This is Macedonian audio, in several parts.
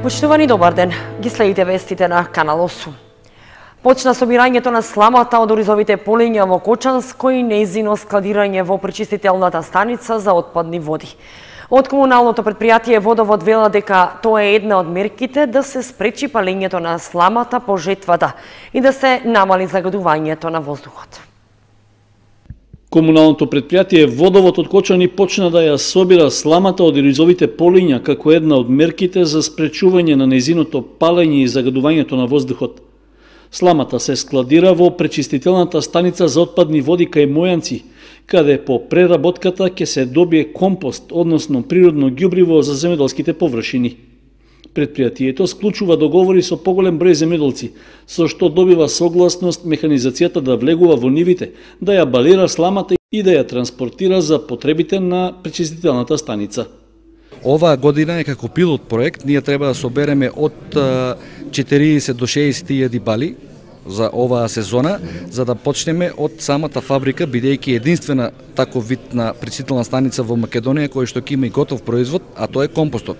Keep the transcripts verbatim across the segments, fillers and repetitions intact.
Почитувани, добар ден. Ги следите вестите на Канал осум. Почна собирањето на сламата од оризовите полиња во Кочанско и нејзино складирање во пречистителната станица за отпадни води. Од комуналното предпријатие Водовод вела дека тоа е една од мерките да се спречи палењето на сламата по жетвата и да се намали загадувањето на воздухот. Комуналното предпријатие Водовод од Кочани почна да ја собира сламата од оризовите полиња како една од мерките за спречување на нејзиното палење и загадувањето на воздухот. Сламата се складира во пречистителната станица за отпадни води кај Мојанци, каде по преработката ќе се добие компост, односно природно ѓубриво за земјоделските површини. Предпријатието склучува договори со поголем број земјоделци, со што добива согласност механизацијата да влегува во нивите, да ја балира сламата и да ја транспортира за потребите на пречистителната станица. Оваа година е како пилот проект, ние треба да собереме од четириесет до шеесет илјади бали за оваа сезона, за да почнеме од самата фабрика, бидејќи единствена таков вид на пречистителна станица во Македонија кој што ќе има и готов производ, а тоа е компостот.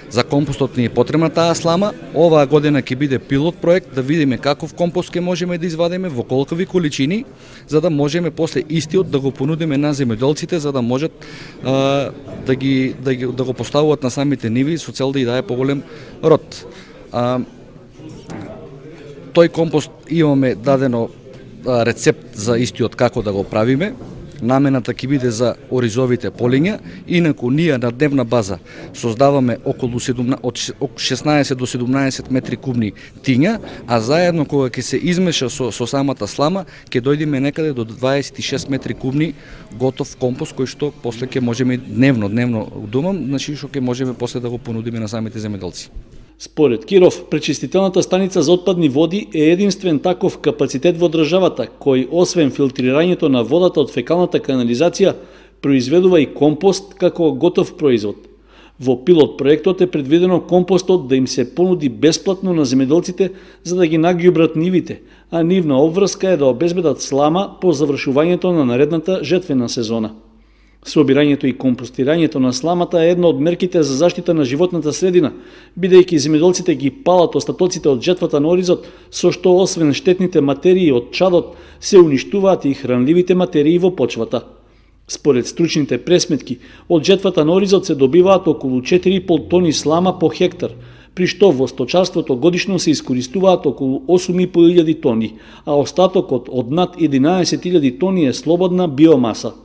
За компостот ни е потребна таа слама. Оваа година ќе биде пилот проект да видиме каков компост ќе можеме да извадиме, во колкови количини, за да можеме после истиот да го понудиме на земјоделците, за да можат а, да ги да ги да го поставуваат на самите ниви со цел да ја даде поголем род. А, тој компост имаме дадено а, рецепт за истиот како да го правиме. Намената ќе биде за оризовите полиња, инаку ние на дневна база создаваме околу седумнаесет, од шеснаесет до седумнаесет метри кубни тиња, а заедно кога ќе се измеша со, со самата слама, ќе дојдеме некаде до дваесет и шест метри кубни готов компост, кој што после ќе можеме дневно, дневно думам, значи што ќе можеме после да го понудиме на самите земјоделци. Според Киров, пречистителната станица за отпадни води е единствен таков капацитет во државата, кој освен филтрирањето на водата од фекалната канализација, произведува и компост како готов производ. Во пилот проектот е предвидено компостот да им се понуди бесплатно на земјоделците за да ги наѓубрат нивите, а нивна обврска е да обезбедат слама по завршувањето на наредната жетвена сезона. Собирањето и компостирањето на сламата е една од мерките за заштита на животната средина, бидејќи земјоделците ги палат остатоците од жетвата на оризот, со што освен штетните материи од чадот, се уништуваат и хранливите материи во почвата. Според стручните пресметки, од жетвата на оризот се добиваат околу четири и пол тони слама по хектар, при што во сточарството годишно се искористуваат околу осум и пол илјади тони, а остатокот од над единаесет илјади тони е слободна биомаса.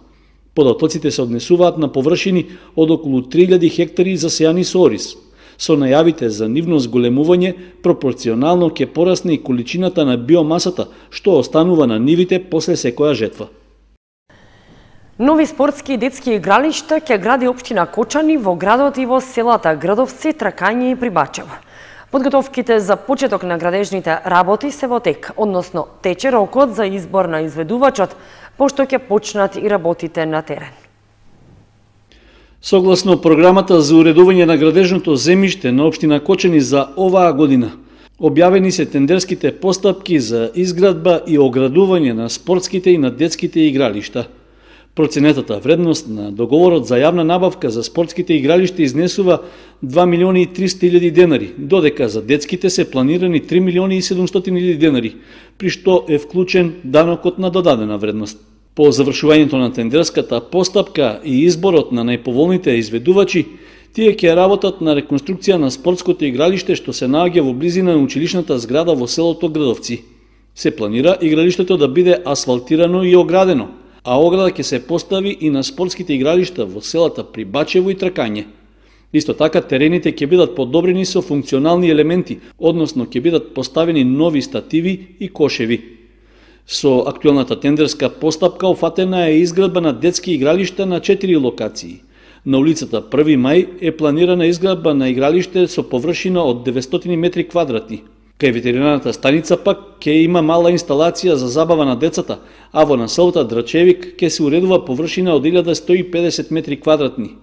Податоците се однесуваат на површини од околу три илјади хектари засејани со ориз. Со најавите за нивно зголемување, пропорционално ќе порасне и количината на биомасата, што останува на нивите после секоја жетва. Нови спортски и детски игралишта ќе гради општина Кочани во градот и во селата Градовци, Тракање и Прибачево. Подготовките за почеток на градежните работи се во тек, односно тече рокот за избор на изведувачот, пошто ќе почнат и работите на терен. Согласно програмата за уредување на градежното земјиште на општина Кочани за оваа година, објавени се тендерските постапки за изградба и оградување на спортските и на детските игралишта. Проценетата вредност на договорот за јавна набавка за спортските игралишта изнесува два милиони и триста илјади денари, додека за детските се планирани три милиони и седумстотини илјади денари, при што е вклучен данокот на додадена вредност. По завршувањето на тендерската постапка и изборот на најповолните изведувачи, тие ќе работат на реконструкција на спортското игралиште што се наоѓа во близина на училишната зграда во селото Градовци. Се планира игралиштето да биде асфалтирано и оградено, а ограда ќе се постави и на спортските игралишта во селата Прибачево и Тракање. Исто така терените ќе бидат подобрени со функционални елементи, односно ќе бидат поставени нови стативи и кошеви. Со актуелната тендерска постапка офатена е изградба на детски игралишта на четири локации. На улицата први мај е планирана изградба на игралиште со површина од деветстотини метри квадратни. Кај ветеринарната станица пак ќе има мала инсталација за забава на децата, а во населата Драчевик ќе се уредува површина од илјада сто и педесет метри квадратни.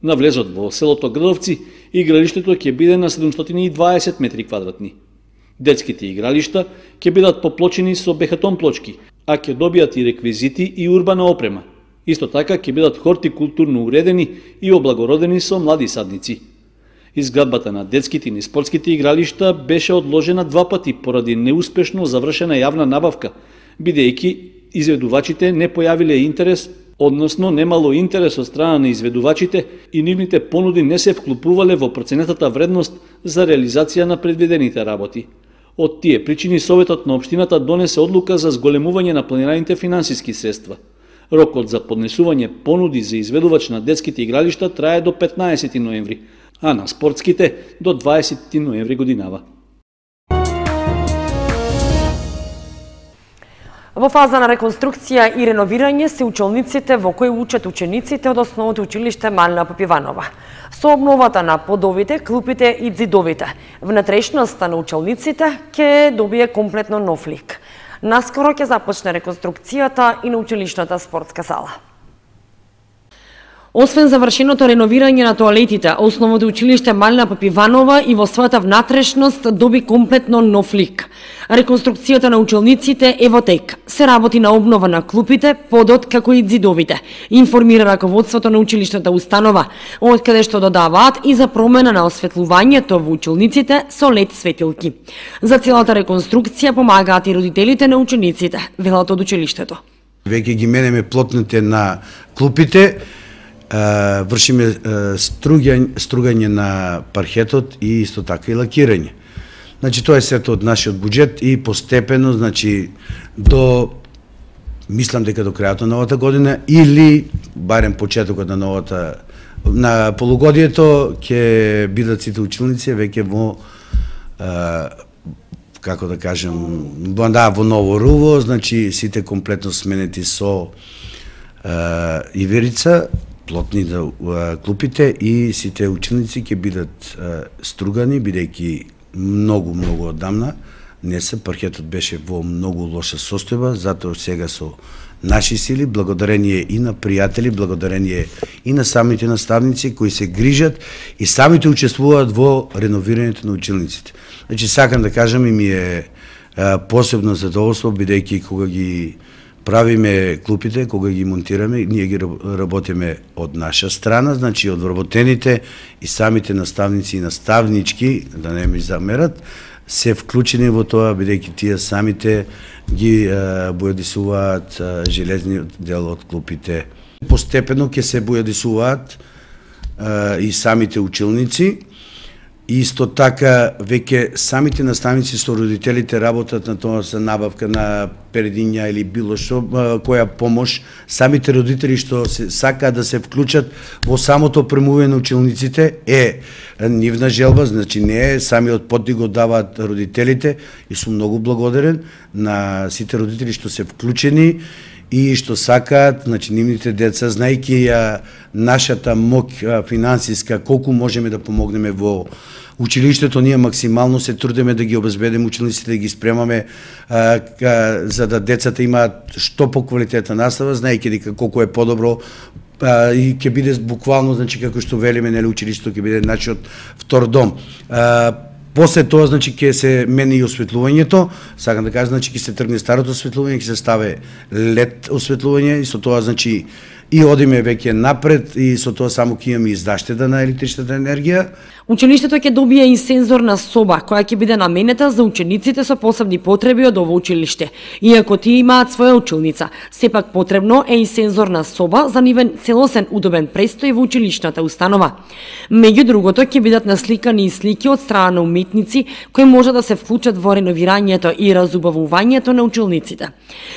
На влезот во селото Градовци, игралиштето ќе биде на седумстотини и дваесет метри квадратни. Детските игралишта ќе бидат поплочени со бехатон плочки, а ќе добијат и реквизити и урбана опрема. Исто така ќе бидат хортикултурно уредени и облагородени со млади садници. Изградбата на детските и спортските игралишта беше одложена два пати поради неуспешно завршена јавна набавка, бидејќи изведувачите не појавиле интерес, односно немало интерес од страна на изведувачите и нивните понуди не се вклупувале во проценетата вредност за реализација на предвидените работи. Од тие причини Советот на општината донесе одлука за зголемување на планираните финансиски средства. Рокот за поднесување понуди за изведувач на детските игралишта трае до петнаесети ноември, а на спортските до дваесети ноември годинава. Во фаза на реконструкција и реновирање се училниците во кои учат учениците од основното училиште Малина Попиванова. Со обновата на подовите, клупите и ѕидовите, внатрешноста на училниците ќе добие комплетно нов лик. Наскоро ќе започне реконструкцијата и на училишната спортска сала. Освен завршеното реновирање на тоалетите, основното училиште Малина Попиванова и во својата внатрешност доби комплетно нов лик. Реконструкцијата на училниците е во тек. Се работи на обнова на клупите, подот како и ѕидовите, информира раководството на училишната установа, од каде што додаваат и за промена на осветлувањето во училниците со лед светилки. За целата реконструкција помагаат и родителите на учениците, велат од училиштето. Веќе ги менеме плотните на клупите, вршиме стругање, стругање на пархетот и исто така и лакирање. Значи тоа е сето од нашиот буџет и постепено, значи до мислам дека до крајот на новата година или барем почетокот на новата на полугодието ќе бидат сите училници веќе во а, како да кажем во, да, во ново руво, значи сите комплетно сменети со а, иверица, плотни да клупите и сите ученици ќе бидат а, стругани, бидејќи многу, многу одамна не се, паркетот беше во многу лоша состојба, затоа сега со наши сили, благодарение и на пријатели, благодарение и на самите наставници кои се грижат и самите учествуваат во реновирањето на училниците. Значи, сакам да кажам и ми е а, посебно задоволство, бидејќи кога ги правиме клупите, кога ги монтираме, ние ги работиме од наша страна, значи од вработените и самите наставници и наставнички, да не ми замерат, се вклучени во тоа, бидејќи тие самите ги бојадисуваат железниот дел од клупите. Постепено ќе се бојадисуваат и самите училници, и исто така веќе самите наставници со родителите работат на тоа за набавка на передиња или било што, која помош. Самите родители што се сакаат да се вклучат во самото премување на училниците е нивна желба, значи не е самиот подиг го даваат родителите и сум многу благодарен на сите родители што се вклучени и што сакаат, значи нивните деца, знаејќи ја нашата моќ финансиска, колку можеме да помогнеме во училиштето, ние максимално се трудиме да ги обезбедиме учениците, да ги спремаме а, а, за да децата имаат што поквалитетна настава, знаејќи дека колку е подобро а, и ќе биде буквално, значи како што велиме, нели, училиштето ќе биде нашиот втор дом. А, После тоа, значи, ќе се мени и осветлувањето, сакам да кажам, значи, ќе се тргне старото осветлување, ќе се стави лед осветлување и со тоа, значи, и одиме веќе напред и со тоа само ќе имаме издаштеда на електричната енергија. Училиштето ќе добие и сензорна соба, која ќе биде наменета за учениците со посебни потреби од ово училиште. Иако тие имаат своја училница, сепак потребно е и сензорна соба за нивен целосен удобен престој во училишната установа. Меѓу другото, ќе бидат насликани и слики од страна на уметници кои може да се вклучат во реновирањето и разубавувањето на училниците.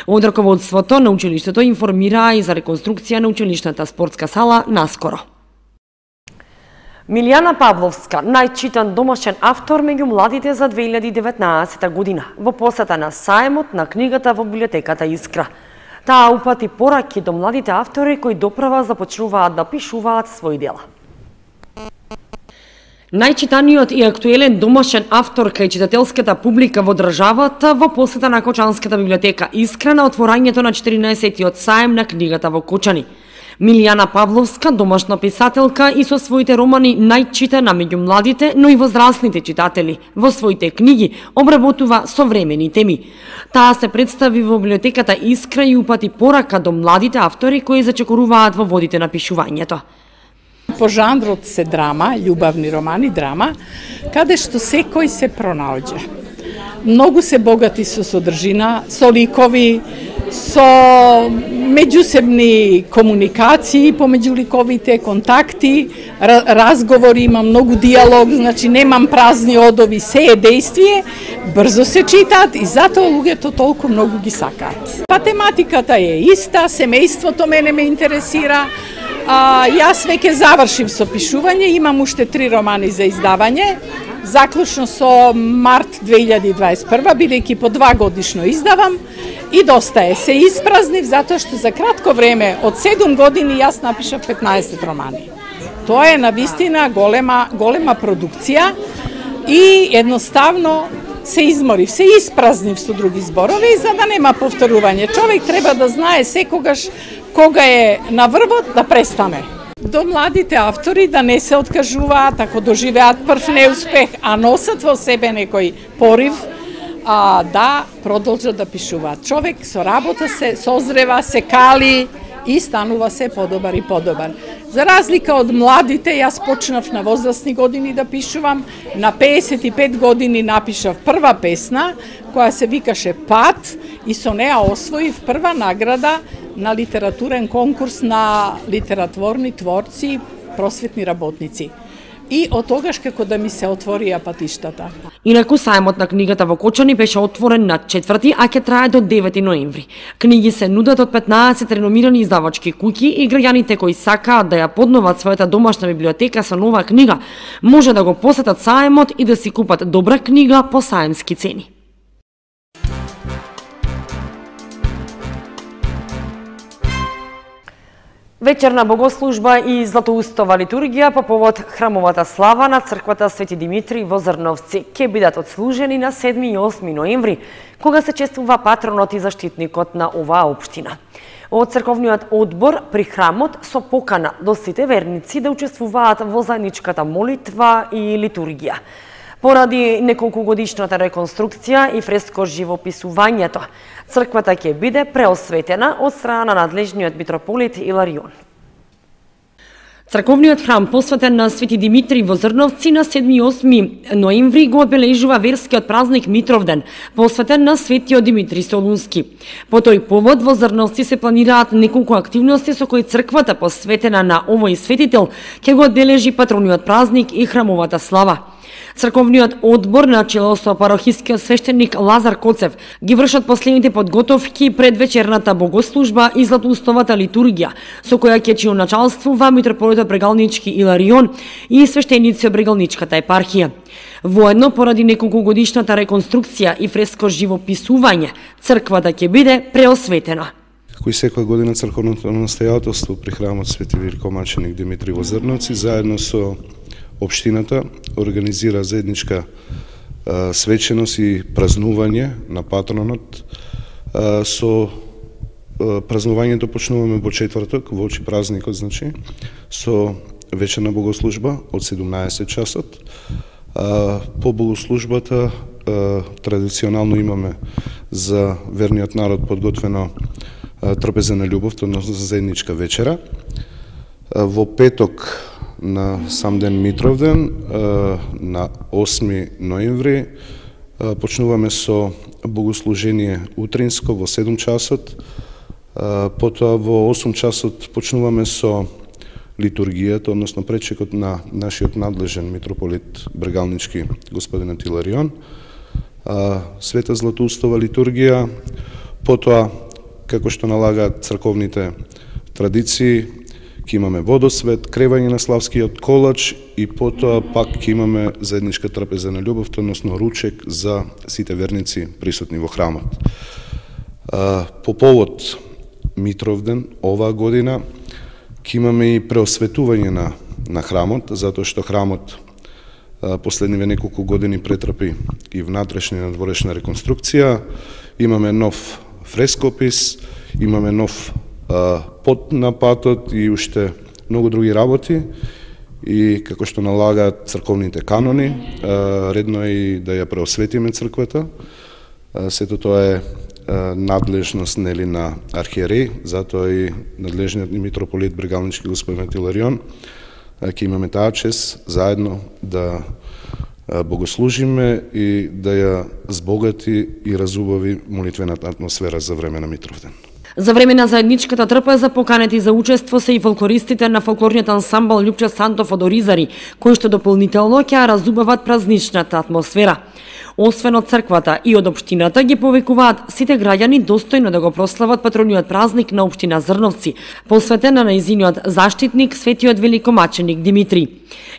Од раководството на училиштето информираа и за реконструкција на училишната спортска сала наскоро. Милијана Павловска, најчитан домашен автор меѓу младите за две илјади и деветнаесета година, во посета на саемот на книгата во библиотеката Искра. Таа упати пораки до младите автори кои доправа започнуваат да пишуваат своји дела. Најчитаниот и актуелен домашен автор кај читателската публика во државата во посета на Кочанската библиотека Искра на отворањето на четирнаесеттиот саем на книгата во Кочани. Милијана Павловска, домашна писателка и со своите романи најчитана меѓу младите, но и возрастните читатели. Во своите книги обработува современи теми. Таа се представи во библиотеката Искра и упати порака до младите автори кои зачекоруваат во водите на пишувањето. по жанрот се драма, љубавни романи, драма, каде што секој се пронаоѓа. Многу се богати со содржина, со ликови, со меѓусебни комуникации помеѓу ликовите, контакти, разговори, има многу диалог, значи немам празни одови, се е действие, брзо се читаат и затоа луѓето толку многу ги сакаат. Па тематиката е иста, семејството мене ме интересира, а, јас веќе завршив со пишување, имам уште три романи за издавање, заклучно со март две илјади дваесет и прва, бидејќи по два годишно издавам, и доста е. Се испразнив затоа што за кратко време, од седум години, јас напишав петнаесет романи. Тоа е навистина голема, голема продукција и едноставно се изморив, се испразнив со други зборови, за да нема повторување. Човек треба да знае секогаш кога е на врвот да престане. До младите автори да не се откажуваат, ако доживеат прв неуспех, а носат во себе некој порив, а, да продолжат да пишуваат. Човек со работа се созрева, се кали и станува се подобар и подобар. За разлика од младите, јас почнав на возрастни години да пишувам, на пеесет и пет години напишав прва песна, која се викаше Пат, и со неа освоив прва награда на литературен конкурс на литератворни творци, просветни работници. И од тогаш како да ми се отворија патиштата. Инаку сајмот на книгата во Кочани беше отворен на четврти, а ќе трае до девети ноември. Книги се нудат од петнаесет реномирани издавачки куќи и граѓаните кои сакаат да ја подноват својата домашна библиотека со нова книга, може да го посетат сајмот и да си купат добра книга по сајмски цени. Вечерна богослужба и златоустова литургија по повод храмовата слава на црквата Свети Димитри во Зрновци ќе бидат отслужени на седми и осми ноември, кога се чествува патронот и заштитникот на оваа општина. Од црковниот одбор при храмот со покана до сите верници да учествуваат во заедничката молитва и литургија. Поради неколкугодишната реконструкција и фреско живописувањето, црквата ќе биде преосветена од страна на надлежниот митрополит Иларион. Црковниот храм посветен на Свети Димитри во Зрновци на седми и осми ноември го одбележува верскиот празник Митровден, посветен на Светиот Димитри Солунски. По тој повод во Зрновци се планираат неколку активности со кои црквата посветена на овој светител ќе го одбележи патрониот празник и храмовата слава. Црковниот одбор на чело со парохискиот свештеник Лазар Коцев ги вршат последните подготовки пред вечерната богослужба и златоустовата литургија, со која ќе чи началствува митрополитот Брегалнички Иларион и свештеници од Брегалничката епархија. Воедно, поради неколкугодишната реконструкција и фреско живописување, црквата ќе биде преосветена. Кој секоја година црковното настојателство при храмот Свети Великомаченик Димитри во Зрновци заедно со општината организира заедничка а, свеченост и празнување на патронот. А, со а, празнувањето почнуваме во четврток, во очи празникот, значи, со вечерна богослужба од седумнаесет часот. А, по богослужбата а, традиционално имаме за верниот народ подготвено а, трапеза на љубов, односно за заедничка вечера. А, во петок на сам ден Митровден, на осми ноември, почнуваме со богослужение утринско во седум часот, потоа во осум часот почнуваме со литургијата, односно пречекот на нашиот надлежен митрополит Брегалнички, господинот Иларион, света златоустова литургија, потоа, како што налагаат црковните традиции, ќе имаме водосвет, кревање на славскиот колач и потоа пак ќе имаме заедничка трапеза на љубов, односно ручек за сите верници присутни во храмот. По повод Митровден оваа година ќе имаме и преосветување на, на храмот, затоа што храмот последниве неколку години претрпи и внатрешна и надворешна реконструкција, имаме нов фрескопис, имаме нов пот на патот и уште многу други работи, и како што налагаат црковните канони, редно е и да ја преосветиме црквата. Сето тоа е надлежност, нели, на архиерей, затоа и надлежниот митрополит Брегалнички господин Иларион ќе имаме таа чест заедно да богослужиме и да ја збогати и разубави молитвената атмосфера за време на Митровден. За време на заедничката трпеза поканети за учество се и фолклористите на фолклорниот ансамбл Лјупче Сантов од Оризари, кои што дополнително ќе разубават празничната атмосфера. Освен од црквата и од општината ги повикуваат сите граѓани достојно да го прослават патрониот празник на општина Зрновци, посветен на нејзиниот заштитник светиот великомаченик Димитри.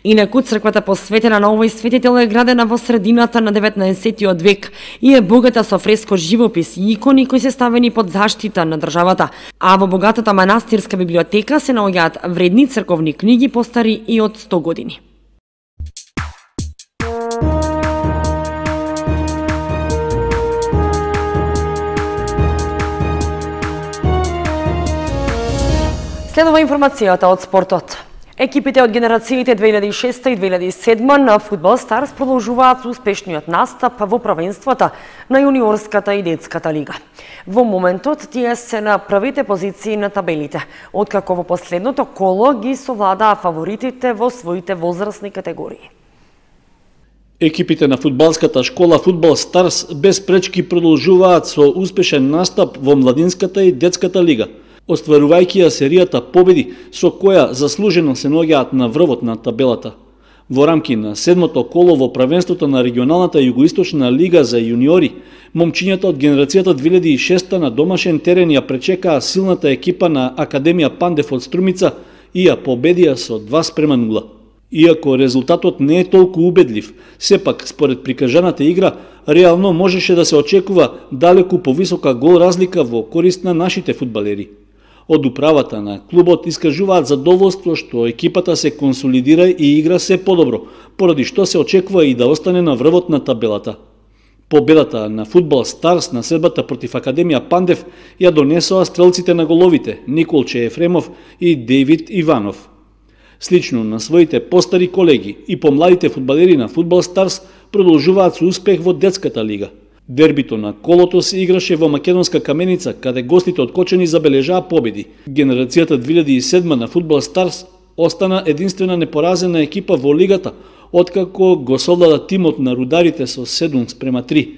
Инаку црквата посветена на овој светител е градена во средината на деветнаесеттиот век и е богата со фреско живопис и икони кои се ставени под заштита на државата, а во богатата манастирска библиотека се наоѓаат вредни црковни книги постари и од сто години. Следува информацијата од спортот. Екипите од генерациите две илјади и шеста и две илјади и седма на Фудбал Старс продолжуваат со успешниот настап во правенствата на јуниорската и детската лига. Во моментот тие се на првите позиции на табелите, откако во последното коло ги совладаа фаворитите во своите возрастни категории. Екипите на фудбалската школа Фудбал Старс без пречки продолжуваат со успешен настап во младинската и детската лига, остварувајќи ја серијата победи со која заслужено се наоѓаат на врвот на табелата. Во рамки на седмото коло во правенството на регионалната југоисточна лига за јуниори, момчињата од генерацијата две илјади и шеста на домашен терен ја пречекаа силната екипа на Академија Пандев од Струмица и ја победија со два спрема нула. Иако резултатот не е толку убедлив, сепак според прикажаната игра, реално можеше да се очекува далеку повисока гол разлика во корист на нашите фудбалери. Од управата на клубот искажуваат задоволство што екипата се консолидира и игра се подобро, поради што се очекува и да остане на врвот на табелата. Победата на Фудбал Старс на седбата против Академија Пандев ја донесоа стрелците на головите Николче Ефремов и Дејвид Иванов. Слично на своите постари колеги и помладите фудбалери на Фудбал Старс продолжуваат со успех во детската лига. Дербито на колото се играше во Македонска Каменица, каде гостите од Кочани забележаа победи. Генерацијата две илјади и седма на Фудбал Старс остана единствена непоразена екипа во лигата, откако го совлада тимот на рударите со седум спрема три.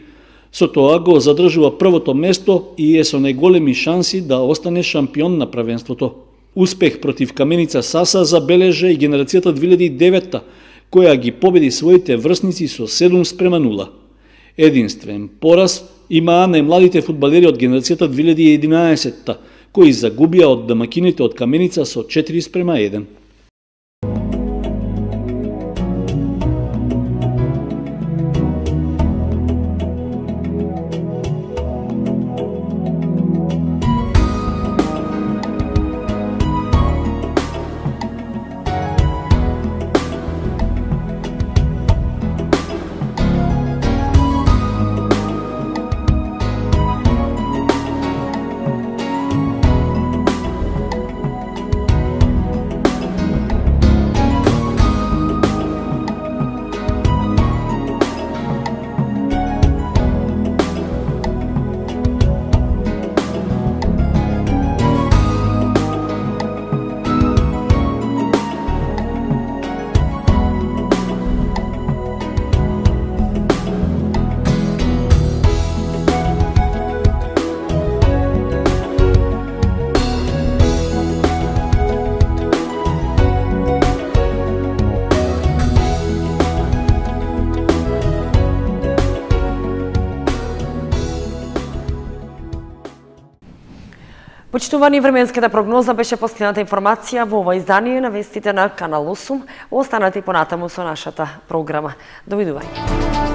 Со тоа го задржува првото место и е со најголеми шанси да остане шампион на правенството. Успех против Каменица Саса забележа и генерацијата две илјади и девета, која ги победи своите врсници со седум спрема нула. Единствен пораз имаа најмладите фудбалери од генерацијата две илјади и единаесетта, кои загубија од домакините од Каменица со четири спрема еден. Почитувани, временската прогноза беше последната информација во ова издание на вестите на Канал осум. Останете понатаму со нашата програма. Довидување.